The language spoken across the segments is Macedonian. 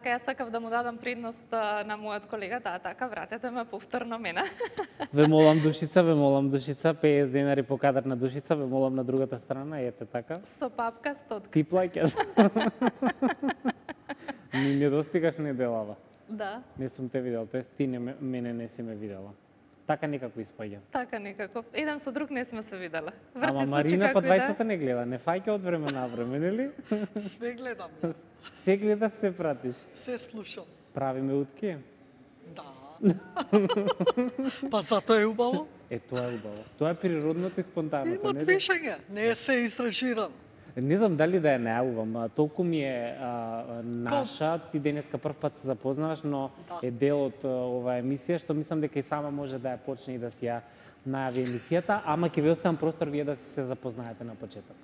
Така јас сакав да му дадам предност на мојот колега, така вратете ме повторно мене. Ве молам Душица, 50 денари по кадар на Душица, ве молам на другата страна, ете така. Со папка 100. Ти плаќаш. Ни не достигаш неделава. Да. Не сум те видел, тоест ти мене не си ме видела. Така некако испаѓа. Така некако. Еден со друг не сме се виделе. Ама Марина па двајцата не гледа, не фаќа од време на време, нели? Све гледам. Се гледаш, се пратиш. Се слушам. Правиме утки? Да. Па затоа е убаво. Тоа е убаво. Тоа е природното и спонтаното. Има движење, не се истражирано. Не знам дали да ја најавувам, толку ми е наша, ти денеска прв пат се запознаваш, но е дел од оваа емисија, што мислам дека и сама може да ја почне и да си ја најави емисијата, ама ќе ви оставам простор вие да се запознаете на почеток.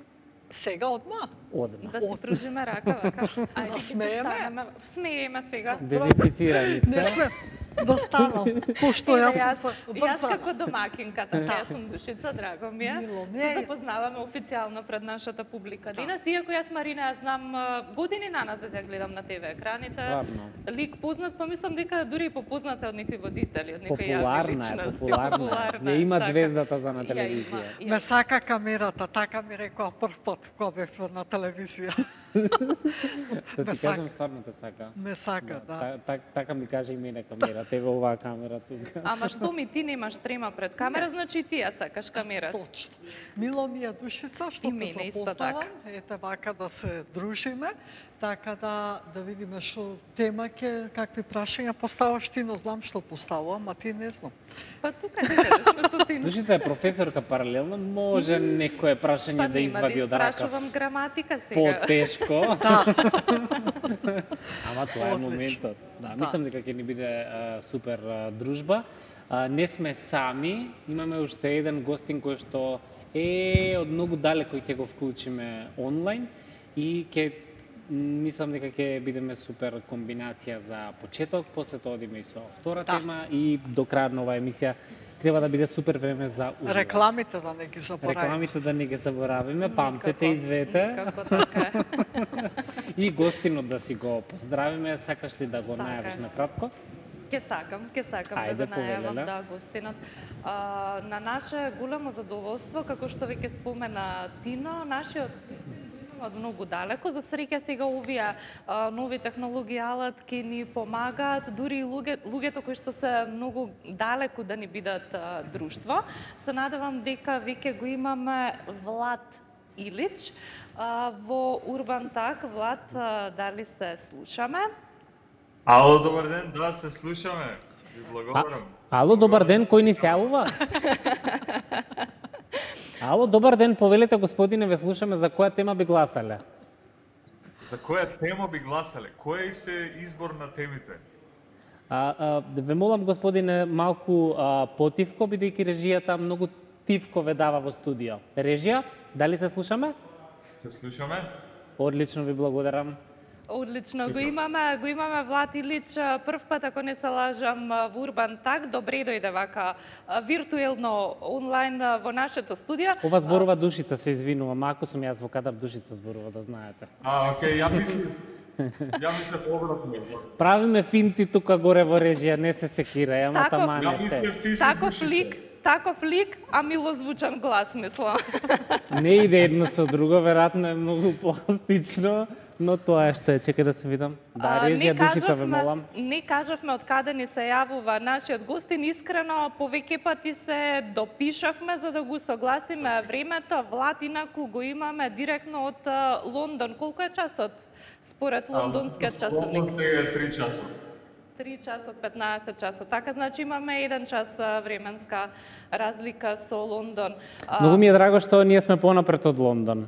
Сега одма? Одма. Да си пружиме рака, вака. Ајде, смееме? Смееме сега. Дезинфицирани сте. Не сме достанал, пошто јас сум Јас како домакинката, јас сум Душица, драго ми е. Се запознаваме официјално пред нашата публика денес, иако јас Марина ја знам години наназад ја гледам на ТВ екраните. Стварно. Лик познат, па мислам дека дури и попозната од некои водители, од некои јавни Популарна личности. е, популарна. Ја има звездата за на телевизија. Ме сака камерата, така ми рекоа прв пат кога бев на телевизија. Да ти кажам, стварно те сака. Ме сака, да. Така ми каже и мене камера, тебе оваа камера тука. Ама што ми ти немаш трема пред камера, значи ти ја сакаш камерата. Точно. Мило ми е Душица, што те запознавам. Ете вака да се дружиме, така да видиме што тема ќе, какви прашања поставаш ти, но знам што поставувам, а ти не знам. Па тука некаде сме со Тино. Душица е професорка паралелно, може некое прашање да извади од рака. Па нема да испрашувам граматика сега. Потешко. Да. Ама тоа е моментот. Да, мислам дека ќе ни биде супер дружба. Не сме сами, имаме уште еден гостин кој што е од многу далеко и ќе го вклучиме онлайн и мислам дека ќе бидеме супер комбинација за почеток, после тоа одиме и со втора тема и до крај на оваа емисија треба да биде супер време за уживање. Рекламите да не ги заборавиме. Рекламите да не ги заборавиме, памтете и двете. Како така. И гостинот да си го поздравиме, сакаш ли да го најавиш накратко? Ќе сакам да го најавам, да, гостинот. На наше големо задоволство, како што веќе спомена Тино, нашиот од многу далеко. За среќа сега овие нови технологии, алатки ни помагаат, дури и луѓето кои што се многу далеку да ни бидат друштво. Се надевам дека веќе го имаме Влад Илич во Урбан Так. Влад, дали се слушаме? Ало, добар ден, да, се слушаме. Ви благодарам. Ало, добар ден, кој ни се јавува? Ало, добар ден, повелете господине, ве слушаме, за која тема би гласале? За која тема би гласале? Кој се избор на темите? Ве молам господине малку потивко, бидејќи режијата многу тивко ве дава во студио. Режија, дали се слушаме? Се слушаме. Одлично, ви благодарам. Одлично, го имаме Влад Илич прв пат, ако не се лажам, во Урбан Так. Добре дојде вака виртуелно онлайн во нашето студио. Ова зборува Душица, се извинувам, ако сум јас во кадар, Душица зборува, да знаете. Окей, ја мислев обратно. Правиме финти тука горе во режија, не се секирај, ама тамане се. Таков лик, а милозвучан глас, мислам. Не иде едно со друго, веројатно е многу пластично, но тоа е што е. Чекај да се видам. Да, режија Душица, ве молам. Не кажавме од каде ни се јавува нашиот гостин. Искрено, повеќе пати се допишавме за да го согласиме времето. Влад, инаку го имаме директно од Лондон. Колку е часот според лондонскиот часовник? Лондон е 3 часот. 3 часот, 15 часот. Така, значи имаме 1 час временска разлика со Лондон. Многу ми е драго што ние сме понапред од Лондон.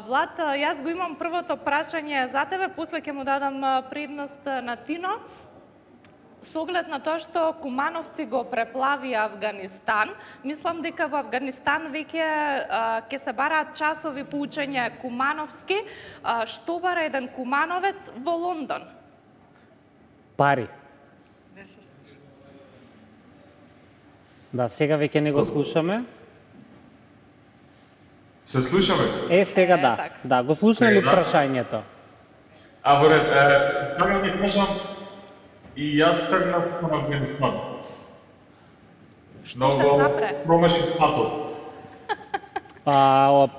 Влад, јас го имам првото прашање за тебе, после ќе му дадам предност на Тино. Со оглед на тоа што кумановци го преплавија Авганистан, мислам дека во Авганистан веќе ќе се бараат часови по учење кумановски. Што бара еден кумановец во Лондон? Пари. Не се слуша. Да, сега веќе не го слушаме. Се слушаме? Сега да. Да, го слушна ли прашањето? Во ред, сакам да кажам, и јас тргнав кон Авганистан. Многу промашив патот.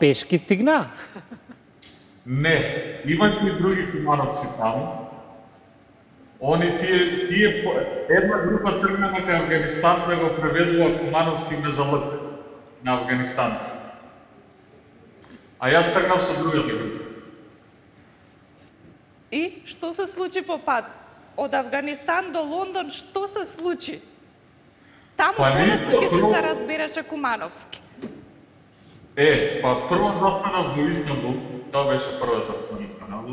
Пешки стигна? Не, имаше и други кумановци таму. Тие една група тргна кај Авганистан да го преведува кумановски мезалък на афганистанци. А јас тргнав со другата група. И што се случи по пат? Од Авганистан до Лондон, што се случи? Таму полесно ќе се разбереше кумановски. Прво застанав во Истанбул, тоа беше првата која застанав.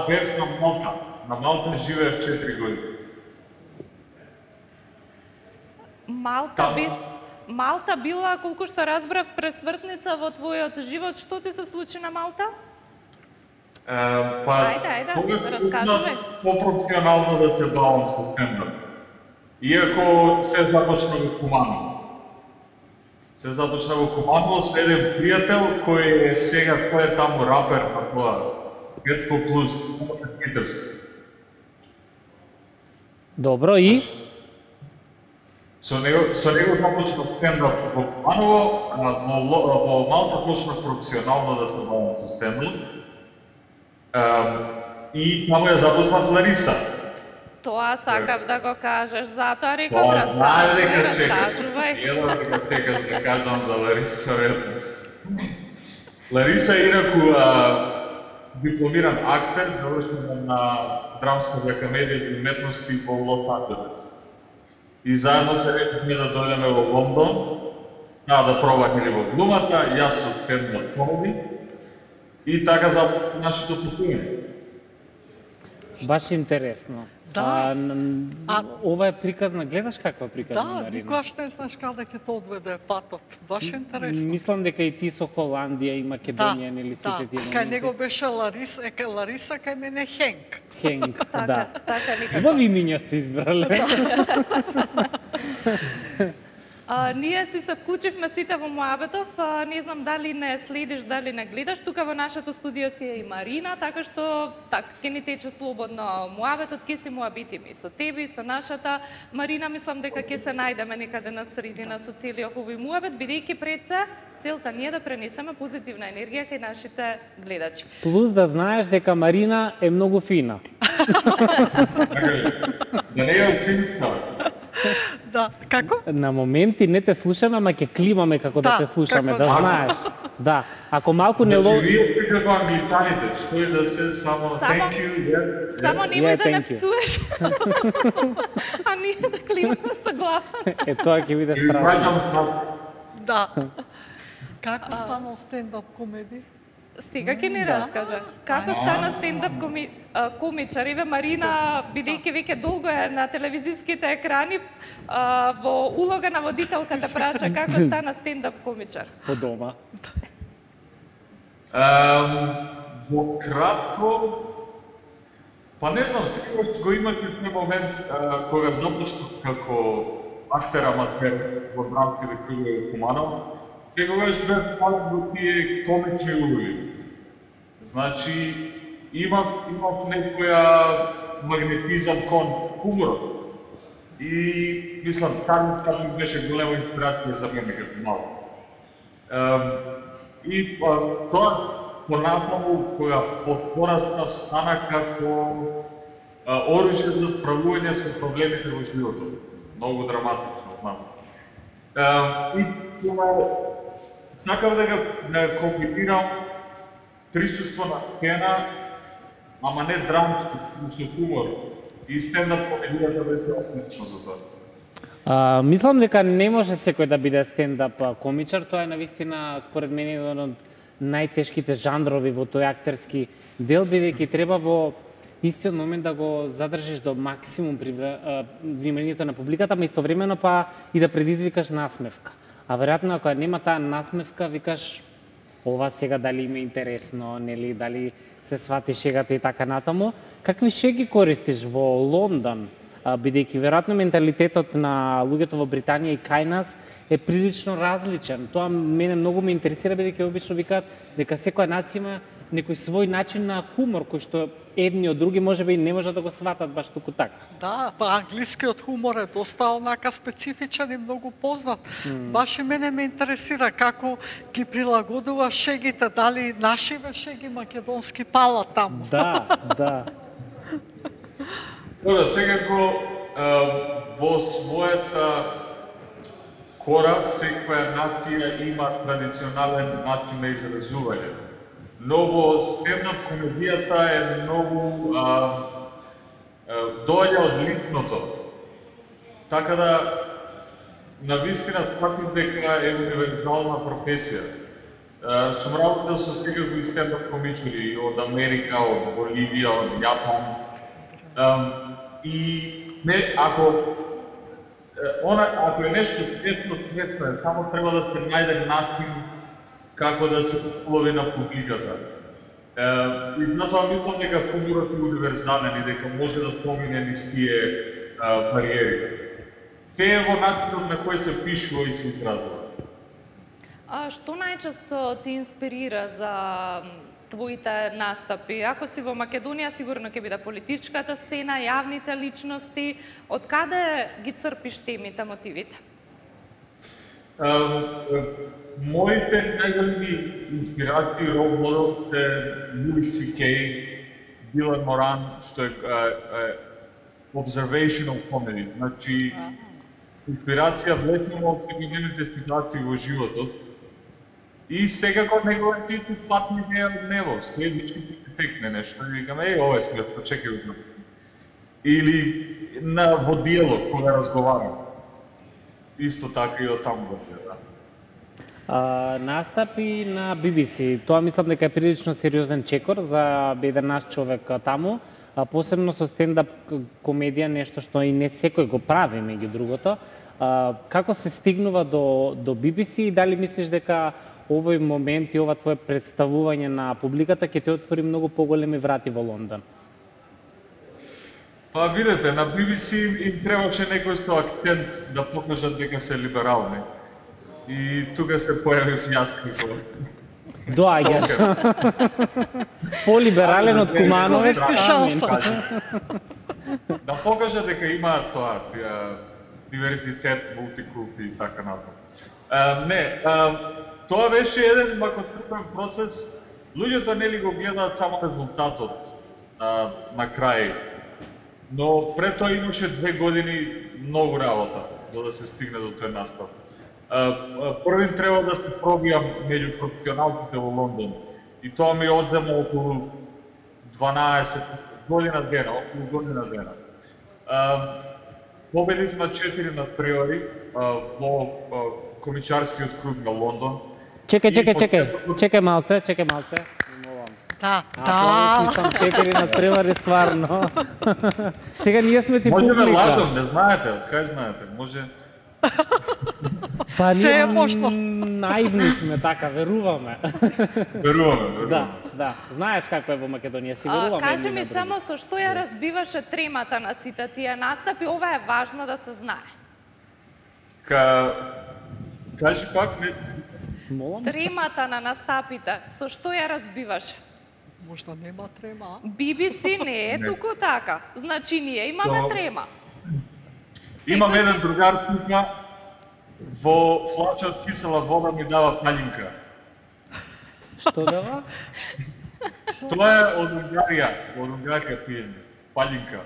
Бев на Малта. На Малта живеев 4 години. Малта била, колку што разбрав, пресвртница во твојот живот. Што ти се случи на Малта? Ајде, раскажи. Попропорционално да се бавам со стендап. Иако се започна во Куманово. Со еден пријател кој е сега, тој е таму рапер на тоа. Гетко Плюс, Питерски. Добро, и? Со него започнав стендап во Куманово, во Малта почнав професионално да се бавам со стендап. И таму ја запознав Лариса. Тоа сакав да го кажеш, затоа реков раскажувај. Едно дека чекаш да кажам за Лариса веднаш. Лариса е инаку дипломиран актер, завршен на Драмската академија и уметности во Лос Анџелес. И заедно се решивме да дојдеме во Лондон, да пробаме или во глумата, јас со стендап комеди. И така за нашето патување. Баш интересно. Да. Ова е приказна, гледаш каква приказна, Марина? Да, никогаш не знаеш каде ќе те одведе патот. Баш интересно. Мислам дека и ти со Холандија и Македонија, нели сите тие моменти. Кај него беше Лариса, кај мене Хенк. Хенк, да. Така никако. Убави имиња сте избрале. Ние си се вклучивме сите во муабетов, не знам дали не следиш, дали не гледаш, тука во нашето студио си е и Марина, така што ќе ни тече слободно муабетот, ќе си муабитиме и со тебе и со нашата Марина, мислам дека ќе се најдеме некаде на средина со целиот овој муабет, бидејќи пред се целта ни е да пренесеме позитивна енергија кај нашите гледачи. Плюс да знаеш дека Марина е многу фина. Да не е фина. Да, како? На моменти не те слушаме, ама ќе климаме како да те слушаме, да знаеш. Да, ако малку не лови... Значи, вие како англичаните, што е да се само thank you, yes. Само немој да не пцуеш. А ние да климаме со глава. Тоа ќе биде страшно. Да. Како станал стендап комеди? Сега ќе ни раскажа. Како стана стендап комичар? Еве Марина, бидејќи веќе долго е на телевизиските екрани, во улога на водителката праша како стана стендап комичар? По дома. Во кратко, па не знам, секогаш го имате тој момент кога започнав како актер аматер во драмските кругови во Куманово, секогаш бев пален во тие комични улоги. Значи, имав некоја магнетизам кон хуморот. И, мислам, така ми беше голема инспирација за мене како малко. И тоа, понатаму, кога порастав, стана како оружје за справување со проблемите во животот. Многу драматично, знам. И тоа, сакав да комбинирам присуство на сцена, ама не драмско, со хумор. И стендап комедијата беше отлично за тоа. Мислам дека не може секој да биде стендап комичар, тоа е навистина според мене еден од најтешките жанрови во тој актерски дел, бидејќи треба во истиот момент да го задржиш до максимум вниманието на публиката, ама истовремено па и да предизвикаш насмевка. А веројатно ако нема таа насмевка, викаш ова сега дали им е интересно, нели, дали се свати шегата и така натаму. Какви шеги користиш во Лондон? бидејќи веројатно менталитетот на луѓето во Британија и кај нас е прилично различен. Тоа мене многу ме интересира, бидејќи обично викаат дека секоја нација има некој свој начин на хумор, кој што едни од други можеби не можат да го сватат баш туку така. Да, па англискиот хумор е доста онака специфичен и многу познат. Баш и мене ме интересира како ги прилагодува шегите, дали нашиве шеги македонски палат таму. Да, да. Добро, секако во својата кора секоја нација има традиционален начин на изразување. Но во стендап комедијата е многу доаѓа од личното. Така да навистина тврдам дека е универзална професија. Сум работел со секакви стендап комичари од Америка, од Боливија, од Јапан. И ако е нешто светно, само треба да се најде начин како да се улови на публиката. И затоа мислам дека хуморот е универзален и дека може да помине низ тие бариери. Те е во начинот на кој се пишува и се изразува. Што најчесто ти инспирира за твоите настапи? Ако си во Македонија, сигурно ќе биде политичката сцена, јавните личности. Од каде ги црпиш темите, мотивите? Моите најголеми инспирации рол модел се Луис C.K., Дилан Моран, што е observational comedy. Значи, инспирација влечено од секојдневните ситуации во животот. И секако неговите патни идеја од него, следнички ќе текне нешто и викаме, ова е смешно, чекај го. Или во диалог кога разговарам. Исто така и од таму да. Настапи на BBC, тоа мислам дека е прилично сериозен чекор за еден наш човек таму, посебно со стендап комедија, нешто што и не секој го прави меѓу другото. Како се стигнува до BBC и дали мислиш дека овој момент и ова твое представување на публиката ќе те отвори многу поголеми врати во Лондон? Па видете, на BBC им требаше некој со акцент да покажат дека се либерални. И тука се појавив јас како доаѓаш. Полиберален од Кумановец. Да покажа дека има тоа диверзитет, мултикулти и така натаму. Тоа беше еден макотрпен процес. Луѓето нели го гледаат само резултатот на крај. Но пред тоа имаше 2 години многу работа за да се стигне до тој настап. Првин треба да се пробијам меѓу професионалците во Лондон. И тоа ми одзема околу 12 година дена, околу година дена. Победив на 4 надпревари во комичарскиот круг на Лондон. Чекај малце. Да. Сам 4 надпревари стварно. Сега ние сме ти публика. Може ме лажам, не знаете, од кај знаете, може... Па се е можно. Наивни сме, така, веруваме. Веруваме. Да. Знаеш како е во Македонија, си веруваме. Кажи ми само со што ја разбиваше тремата на сите тие настапи, ова е важно да се знае. Кажи пак, не... Тремата на настапите, со што ја разбиваше? Можда нема трема. BBC не е туку така. Значи ние имаме трема. Имам еден другар тука, во флача од кисела вода ми дава палинка. Што дава? Тоа е од Унгарија пиење, палинка.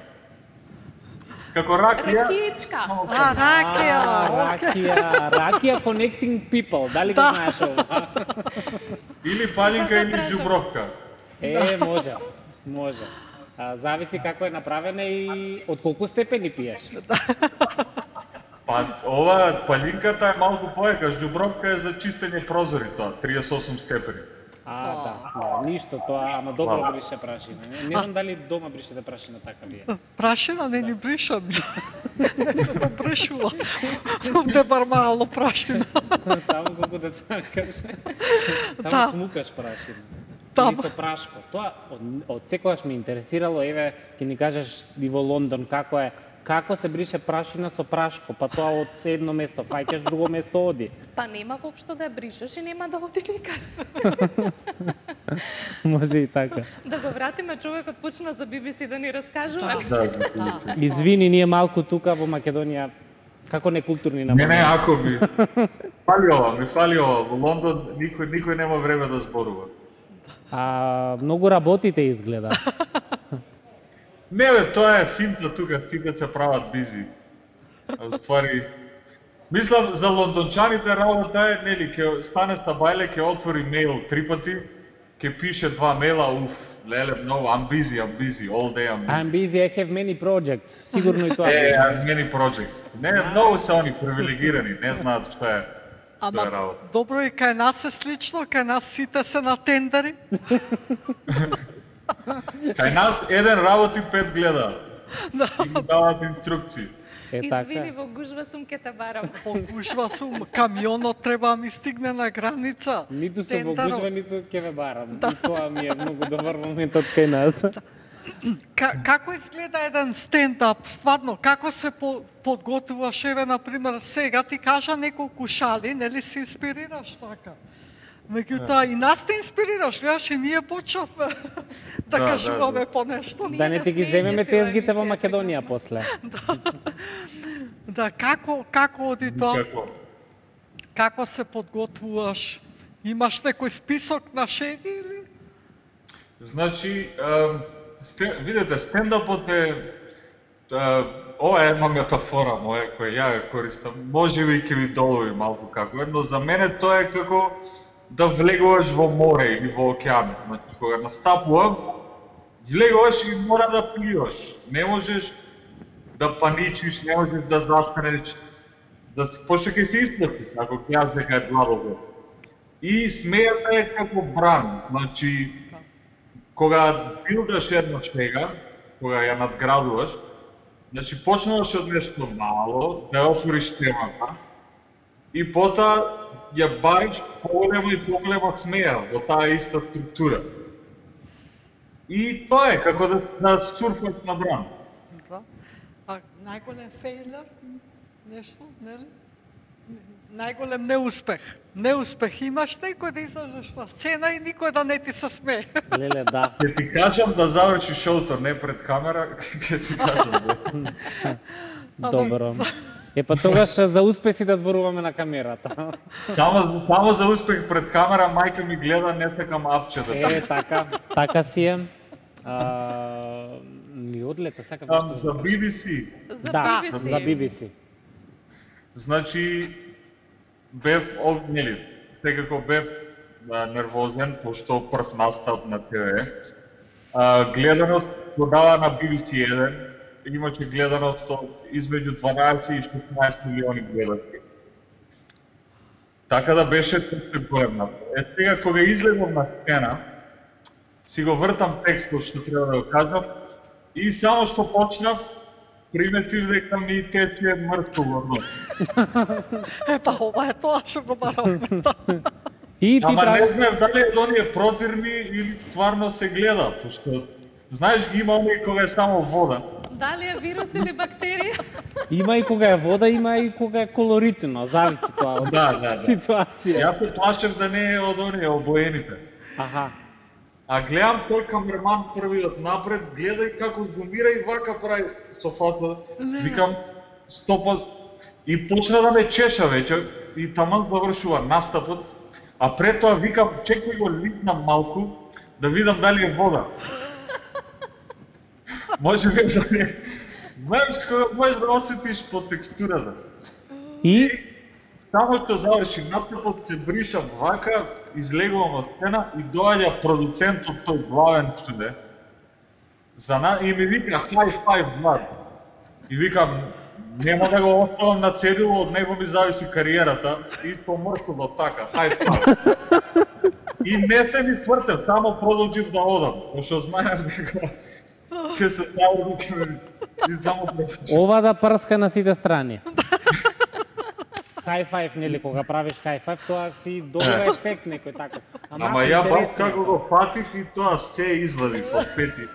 Како ракија... Ракичка. Ракија connecting people, дали го знаеш ова? Или палинка или жубровка. Може. Зависи како е направена и од колку степени пиеш. Па ова палинката е малку поека, жубровка е за чистење прозори тоа, 38 степени. Да, ништо тоа, ама добро брише прашина. Не знам дали дома бришете прашина така вие. Прашина не ни бришам. Не се го бришува. Овде бар мало прашина. Таму колку да сакаш. Таму смукаш прашина. Или со прашко. Тоа од секогаш ме интересирало, еве, ќе ни кажеш и во Лондон како е како се брише прашина со прашко, па тоа од едно место фаќаш, друго место оди. Па нема воопшто да ја бришеш и нема да оди никаде. Може и така. Да го вратиме, човекот почна за BBC да ни раскажува. Извини, ние малку тука во Македонија како некултурни на. Не, ако ми фалио. Во Лондон никој нема време да зборува. Многу работите изгледа. Не бе, тоа е финта тука, сите се прават бизи. Ствари, мислам за лондончаните работа е, нели, ќе стане стабајле, ќе отвори мејл 3 пати, ќе пише 2 мејла, леле, много, I'm busy, all day I'm busy. I have many projects, сигурно и тоа. I have many projects. Не, многу се они привилегирани, не знаат што е. Ама, добро и кај нас е слично, кај нас сите се на тендери. Кај нас еден работи, 5 гледаат. И му дават инструкции. Извини, во гужва сум ке те барам. Во гужва сум, камионот треба да ми стигне на граница. Ниту сум во гужва, ниту ке ве барам. И тоа ми е многу добар моментот кај нас. Како изгледа еден стендап, стварно, како се подготвуваш, еве, например, сега ти кажа неколку шали, нели се инспирираш така? Меѓутоа и нас те инспирираш, гледаш и ние почнавме да кажуваме по нешто. Да не ти ги земеме тезгите во Македонија после. Да, како оди тоа? Како се подготвуваш? Имаш некој список на шеги или? Значи, видете, стендапот е ова е една метафора моја која ја користам. Можеби ќе ви долови малку како е, но за мене тоа е како да влегуваш во море или во океан. Значи, кога настапувам, влегуваш и мора да пливаш. Не можеш да паничиш, не можеш да застанеш, пошто ќе се исплати, ако ќе дека е длабоко. И смејата е како бран. Значи, кога билдаш една шега, кога ја надградуваш, значи почнуваш од нешто мало, да ја отвориш темата, и потоа ја бариш поголема смеја во таа иста структура. И тоа е како да сурфаш на бран. Да. А најголем фейлер, нешто, нели? Најголем неуспех. Неуспех имаш некој да излезеш на сцена и никој да не ти се смее. Леле, да. Ќе ти кажам да заврши шоуто не пред камера, ќе ти кажам. Добро. Па тогаш за успеси да зборуваме на камерата. Само за успех пред камера, мајка ми гледа, не сакам апчета. Така си е. Ми одлета, сакам нешто. За BBC. Да, за BBC. Значи, бев, нели, секако бев нервозен, пошто прв настап на ТВ. Гледаност го дава на BBC 1, имаше гледаност измеѓу 12 и 16 милиони гледачи. Така да беше големна. Сега кога излезам на сцена, си го вртам текстот што треба да го кажам и само што почнав, приметив дека ми тече мртво во нос. Епа, ова е тоа што го барам. Ама не знаев дали е оние прозирни или стварно се гледа, пошто знаеш ги има оние кога е само вода. Дали е вирус или бактерија? Има и кога е вода, има и кога е колоритно, зависи тоа од ситуација. Јас се плашев да не е од оние обоените. Аха. А гледам тој камерман првиот напред, гледај како зумира и вака прави софата. Викам, стопа, и почна да ме чеша веќе, и таман завршува настапот, а пред тоа викам, чекај го литнам малку, да видам дали е вода. Може би да не... Знаеш кога можеш да осетиш по текстурата. И само што заврши настапот, се бришам вака, излегувам во сцена и доаѓа продуцентот тој главен што е. И ми вика high five брат. И викам, нема да го оставам на цедило, од него ми зависи кариерата и помркувам така, high five. И не се ми твртев, само продолжив да одам, пошто знаев дека ќе се наврди и само ова да прска на сите страни. High five, нели, кога правиш high five, тоа си добар ефект некој тако. Ама ја баш како го фатив и тоа се извадив од пети.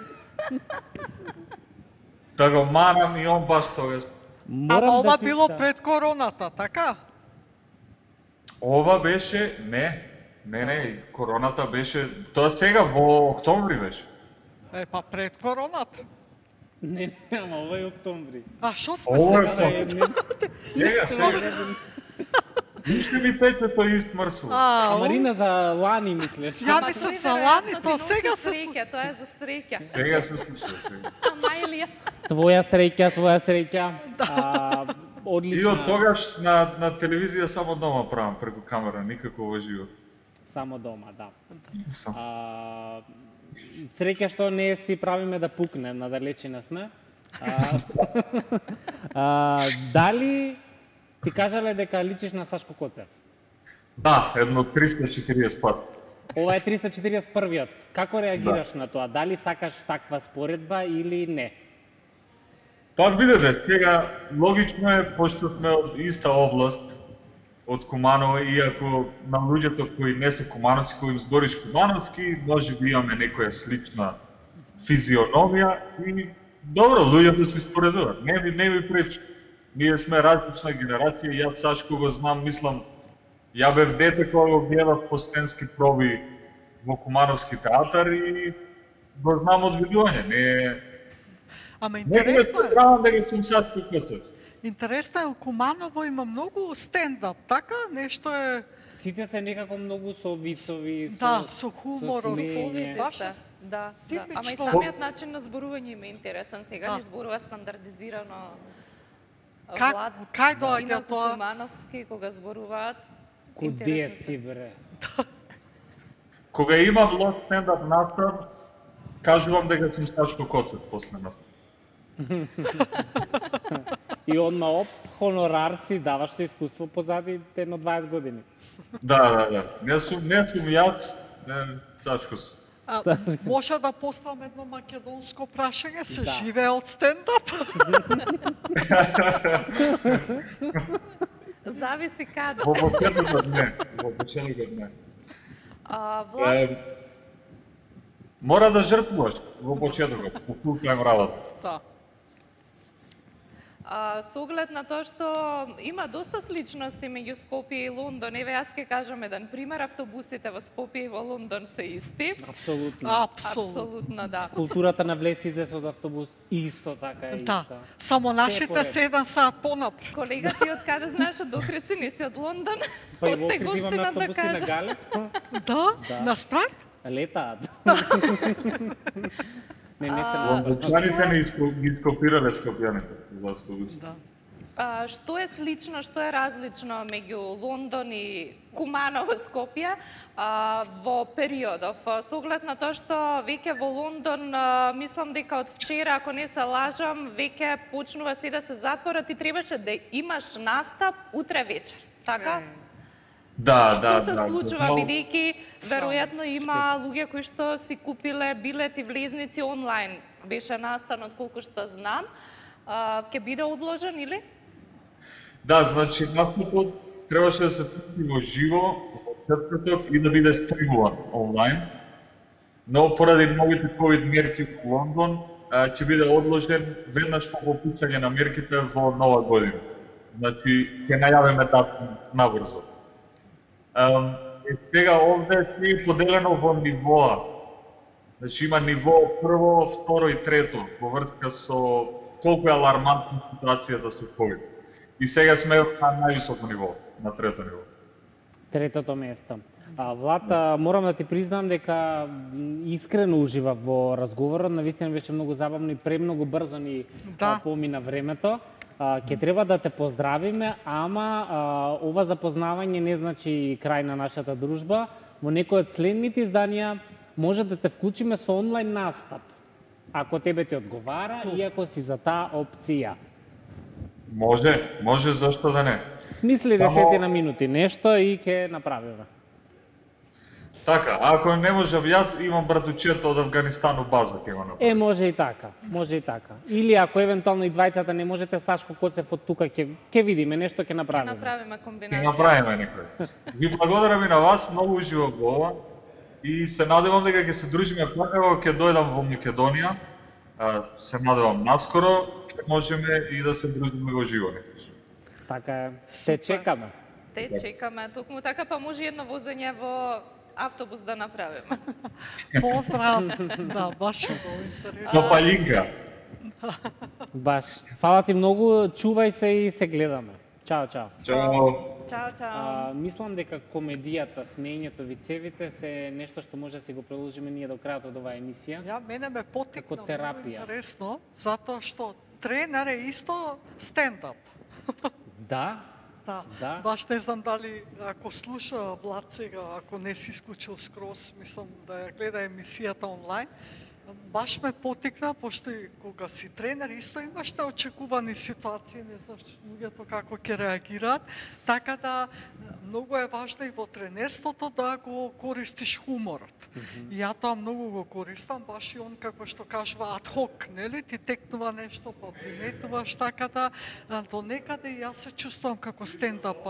да го манам и он баш тогаш. Ама ова било пред короната, така? Ова беше, не, короната беше, тоа сега во октомври беше. Па пред короната. Не, ама ова е октомври. А што сме сега? Сега. Ништо ми тече тој ист мрсу. Марина за лани мислеш? Ја мислам за лани, тоа сега се случува. Тоа е за среќа. Сега се случува сега. Ама Илија. Твоја среќа. Одлично. И од тогаш на телевизија само дома правам преку камера, никако во живо. Само дома, да. Среќа што не си правиме да пукне, надалечина сме. Дали ти кажале дека личиш на Сашко Коцев? Да, едно 340 пат. Ова е 341-виот. Како реагираш на тоа? Дали сакаш таква споредба или не? Па видете, сега логично е, пошто сме од иста област, од Куманово, иако на луѓето кои не се кумановци, кои им збориш кумановски, може би имаме некоја слична физиономија и добро, луѓето се споредуваат. Не ми пречи. Ние сме различна генерација, јас Сашко го знам, мислам, ја бев дете кога го гледав постенски проби во Кумановски театар и го знам од видување. Ама интересно е. Дека сум Сашко Коцев. Интересно е, у Куманово има многу стендап, така? Нешто е... Сите се некако многу со вицови, со хумор, Да. Ама и самиот начин на зборување им е интересен. Сега не зборува стандардизирано. Кај доаѓа тоа? Кумановски, кога зборуваат. Куде си, бре? Кога имам лош стендап настав, кажувам дека сум Сашко Коцев после настав. И одма хонорар си даваш со искуство позади едно 20 години. Да. Не сум јас, Сашко сум. Може да поставам едно македонско прашање, се живее од стендап? Зависи каде. Во почетокот не. Мора да жртвуваш во почетокот, во full-time работа. Да. Со оглед на тоа што има доста сличности меѓу Скопје и Лондон, еве јас ќе кажам еден пример, автобусите во Скопје и во Лондон се исти. Апсолутно, да. Културата на влез излез од автобус исто така е иста. Да, само нашите се 1 сат понапред. Колега, ти од каде знаеш од Охрид, не си од Лондон? Па и во Охрид имаме автобуси на Галеп. Да, на Спрат? Летаат. Лондончаните не ископирале скопјаните за автобус. Што е слично, што е различно меѓу Лондон и Куманово, Скопје во периодов? Со оглед на тоа што веќе во Лондон, мислам дека од вчера, ако не се лажам, веќе почнува се да се затворат и требаше да имаш настап утре вечер, така? Да. Што се случува, бидејќи веројатно има луѓе кои што си купиле билети влезници онлайн. Беше настанот, колку што знам. Ќе биде одложен или? Да, значи настапот требаше да се пусти во живо во четврток и да биде стримуван онлайн. Но поради новите ковид мерки во Лондон ќе биде одложен веднаш по попуштање на мерките во нова година. Значи ќе најавиме датум набрзо. Сега овде е поделено во нивоа. Значи има ниво прво, второ и трето во врска со колку е алармантна ситуацијата со ковид. И сега сме на највисоко ниво, на трето ниво. Третото место. Влад, морам да ти признам дека искрено ужива во разговорот, навистина беше многу забавно и премногу брзо ни помина времето. Ќе треба да те поздравиме, ама ова запознавање не значи крај на нашата дружба. Во некој од следните изданија може да те вклучиме со онлайн настап, ако тебе ти одговара и ако си за таа опција. Може, зашто да не. Смисли 10 минути нешто и ќе направиме. Така, ако не можам јас, имам братучето од Авганистан у база ќе го направи. Може и така. Или ако евентуално и двајцата не можете, Сашко Коцев од тука ќе видиме нешто, ќе направиме. Ќе направиме комбинација. Ќе направиме некој. Ви благодарам и на вас, многу уживав во ова и се надевам дека ќе се дружиме пак кога ќе дојдам во Македонија Се надевам наскоро ќе можеме и да се дружиме во живо. Така е. Се чекаме. Те чекаме, токму така, па може едно возење во автобус да направиме. Поздрав, да, баш убаво, интересно. Со палинка. Баш. Фала ти многу, чувај се и се гледаме. Чао, чао. Чао. Чао, чао. Мислам дека комедијата, смеењето, вицевите се нешто што може да си го приложиме ние до крајот од оваа емисија. Ја мене ме потикна како терапија. интересно, затоа што тренер е исто стендап. Да. Да. Да. Баш не знам дали ако слуша Влад сега, ако не си исклучил скроз, мислам да ја гледа емисијата онлайн, баш ме потикна, пошто и кога си тренер исто имаш неочекувани ситуации, не знаеш луѓето како ќе реагираат, така да многу е важно и во тренерството да го користиш хуморот. И ја тоа многу го користам, баш и он како што кажува адхок, нели? Ти текнува нешто, па приметуваш, така да до некаде јас се чувствувам како стендап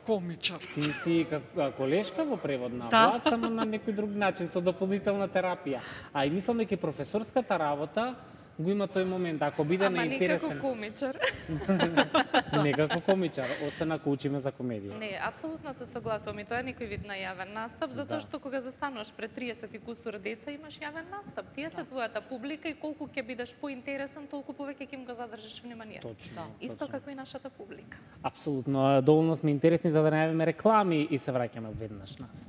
комичар. Ти си колешка во превод на Да. Влад, само на некој друг начин, со дополнителна терапија. А и мислам дека професорската работа го има тој момент, ако биде Ама неинтересен. некако комичар. Не како комичар, освен ако учиме за комедија. Не, апсолутно се согласувам и тоа е некој вид на јавен настап, затоа што кога застануваш пред 30 и кусур деца имаш јавен настап. Тие се твојата публика и колку ќе бидеш поинтересен, толку повеќе ќе им го задржиш вниманието. Точно. Исто точно. како и нашата публика. Апсолутно, доволно сме интересни за да најавиме реклами и се враќаме веднаш назад.